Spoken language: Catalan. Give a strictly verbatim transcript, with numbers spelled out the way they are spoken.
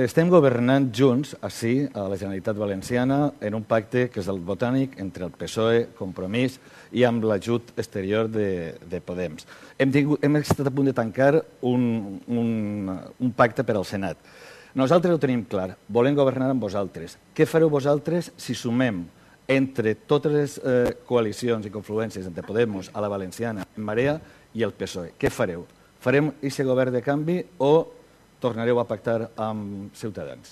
estem governant junts, així, a la Generalitat Valenciana, en un pacte que és el botànic entre el P S O E, Compromís i amb l'ajut exterior de, de Podem. Hem, tingut, hem estat a punt de tancar un, un, un pacte per al Senat. Nosaltres ho tenim clar, volem governar amb vosaltres. Què fareu vosaltres si sumem entre totes les eh, coalicions i confluències entre Podemos, a la Valenciana, Marea i el P S O E? Què fareu? Farem aquest govern de canvi o tornareu a pactar amb Ciutadans?